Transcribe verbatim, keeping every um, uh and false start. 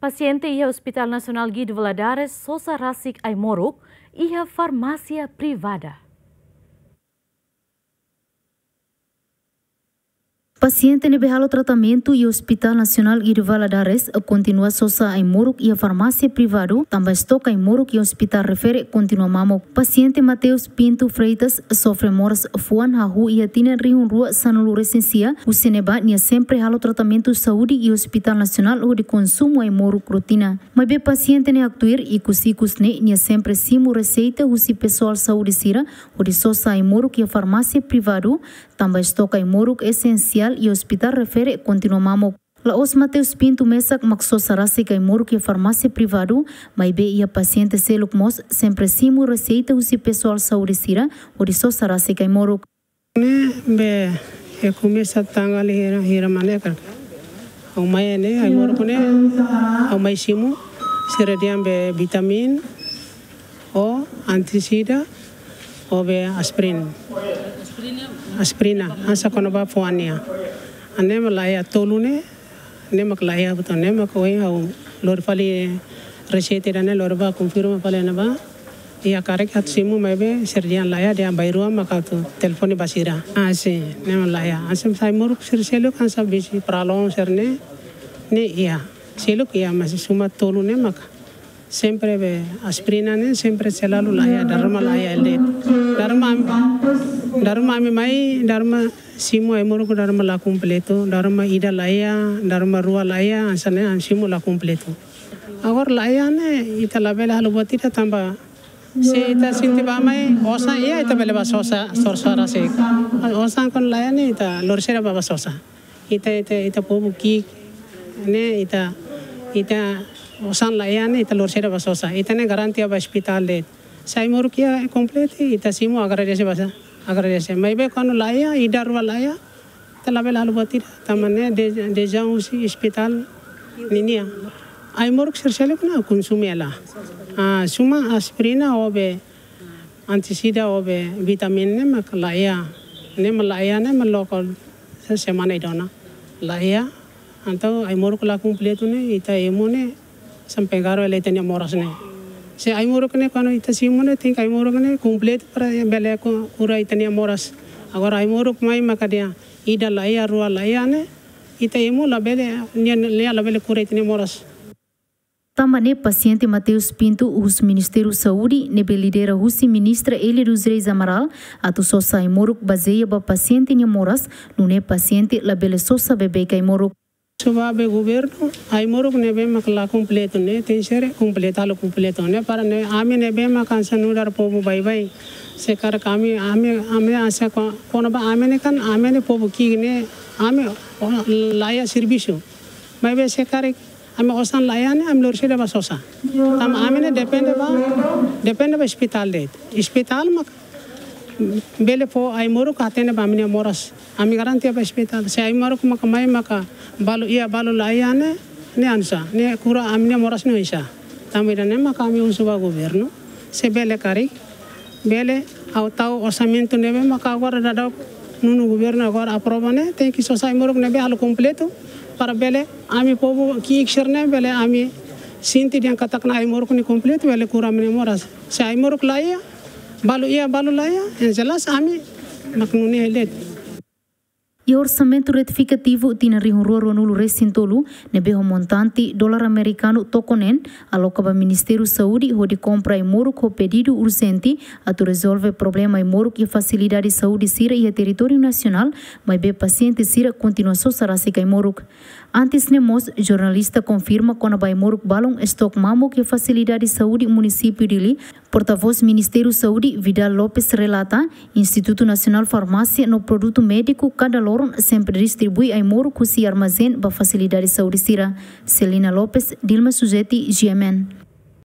Pasiente iha Hospital Nasionál Guido Valadares sosa rasik ai-moruk iha farmásia privada. Pasiente ne'ebé halo tratamentu iha Hospital Nasionál Guido Valadares kontinua sosa ai-moruk iha farmásia privadu, tanba estoke ai-moruk iha hospitál refere kontinua mamuk. Pasiente Mateus Pinto Freitas sofre moras fuan hahú iha tinan rihun rua sanulu resin sia, husi ne'ebá nia sempre halo tratamentu saúde iha Hospital Nasionál hodi konsumu ai-moruk rotina. Maibé pasiente ne'e haktuir, ikus-ikus ne'e nia sempre simu reseita husi pesoál saúde sira hodi sosa ai-moruk iha farmásia privadu, tanba estoke ai-moruk esensiál iha hospitál refere kontinua mamuk. La'ós Mateus Pinto mesak mak sosa rasik ai-moruk iha farmásia privadu, maibé iha pasiente seluk mós sempre simu reseita husi pesoál saúde sira hodi sosa rasik ai-moruk. Ne'ebé iha komesa tanggal hira, hira mane kar. Ha'u mai ne'e, ai-moruk ne'e, ha'u mai simu, sira dehan be vitamin, ou antisida, ou be aspirin. Aspirina, hanesan kona-ba fuan nian. Ne'e mak laiha tolu ne'e, ne'e mak laiha buat ne'e mak ohin ha'u lori fali reseita ida-ne'e lori bá konfirma fali ne'ebá. Iha karik atu simu maibé sira dehan laiha, dehan bainrua maka atu telefone ba sira. Ah, sin, ne'e mak laiha. Hanesan ai-moruk sira seluk hanesan bisi pralon sira-ne'e, ne'e iha. Seluk iha, mas suma tolu ne'e maka. Sempre be aspirina ne'e sempre selalu laiha, dala ruma laiha ele. Dala ruma ami, dala ruma ami mai, dala ruma simu ai-moruk dala ruma la kompletu, dala ruma ida laiha, dala ruma rua laiha, hanesan ne'e ami simu la kompletu. Agora laiha ne'e ita labele halo buat ida tanba se ita sente bá mai osan iha ita bele bá sosa, sosa rasik. Osan kuandu laiha ne'e ita lori saida bá, bá sosa. Ita, ita, ita povu ki'ik ne'e ita, ita osan laiha ne'e ita lori saida bá sosa. Ita ne'e garante ba ospitál de'it. Se ai-moruk iha kompletu ita simu agradese basa. Agradese. Maibé kuandu laiha, ida rua laiha, ita labele halo buat ida. Tanba ne'e de, dezeju husi ospitál ninian. Ai-moruk sira seluk ne'e konsumu hela. Ah, suma aspirina ou be antisida ou be vitamin ne'e mak laiha. Ne'e mak laiha ne'e mak lokál se semana ida ona. Laiha. Entaun ai-moruk la kompletu ne'e ita emu ne'e hanesan pengaruh hela ita-nia moras ne'e. Se ai-moruk ne'e kuandu ita simu ne'e tenke ai-moruk ne'e kompletu para bele ku-, kura ita-nia moras. Agora ai-moruk mai maka dehan ida laiha, rua laiha ne'e, ita emu labele, nia, nia labele kura ita-nia moras. Tanba ne'e pasiente Mateus Pinto husu Ministériu Saúde ne'ebé lidera husi Ministra Élia dos Reis Amaral atu sosa ai-moruk bazeia ba pasiente nia moras, nune'e pasiente labele sosa beibeik ai-moruk. Husu ba be governu, ai-moruk ne'ebé mak la kompletu ne'e tenke ser kompletu, halo kompletu ne'e para ne'e ami ne'ebé mak hanesan nu'udar povu baibain. Se karik ami, ami, ami hanesan ko-, kona-ba ami ne'e kan, ami ne'e povu ki'ik ne'e, ami, oh, laiha servisu. Maibé se karik ami osan laiha ne'e, ami lori saida bá sosa. Tanba ami ne'e depende ba, depende ba ospitál de'it. Ospitál mak bele fó ai-moruk ka atende ba ami-nia moras. Ami garante ba ospitál. Se ai-moruk maka mai maka balu iha balu laiha ne'e, ne'e hanesan, ne'e kura ami-nia moras ne'e oinsá. Tanba ida-ne'e maka ami husu ba governu. Se bele karik, bele ha'u tau orsamentu ne'ebé maka agora daudaun nonu governu agora aprova ne'e, tenke sosa ai-moruk ne'ebé halo kompletu, para bele ami povu ki'ik sira-ne'e bele ami sente dehan katak ne'e ai-moruk ne'e kompletu, bele kura ami-nia moras. Se ai-moruk laiha, balu iha, balu laiha, yang jelas ami mak nune'e de'it. Iha orsamentu retifikativu tinan rihun rua ruanulu resin tolu, ne'ebé ho montante dolar amerikanu toko neen, aloka ba Ministériu Saúde hodi kompra ai-moruk ho pedidu urjente atu rezolve problema ai-moruk iha fasilidade saúde sira iha territóriu nasionál, maibé pasiente sira kontinua sosa rasik ai-moruk. Antes ne'e mós, jornalista konfirma kona-ba ai-moruk balun estoke mamuk iha fasilidade saúde munisípiu Dili, portavós Ministériu Saúde, Vidal Lopes, relata, Institutu Nasionál Farmásia no Produtu Médiku kada loron sempre distribui ai-moruk husi armazén ba fasilidade saúde sira. Celina Lopes, Dilma Suzeti, G M N.